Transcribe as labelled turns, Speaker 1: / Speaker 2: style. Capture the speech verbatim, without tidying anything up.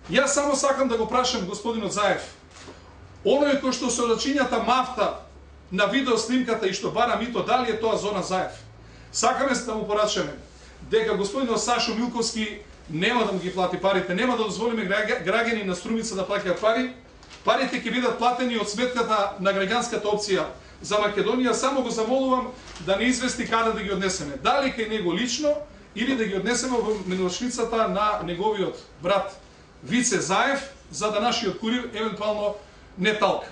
Speaker 1: Јас само сакам да го прашам господинот Заев, оној кој што се зачињата мафта на видеоснимката и што бара мито, дали е тоа Зоран Заев? Сакаме се да му порачаме дека господинот Сашо Милковски нема да му ги плати парите, нема да дозволиме граѓани на Струмица да плаќаат пари. Парите ќе бидат платени од сметката на граѓанската опција за Македонија. Само го замолувам да не извести каде да ги однесеме. Дали кај него лично или да ги однесеме во меношницата на неговиот брат Вице Заев, за да нашиот курир евентуално не талка.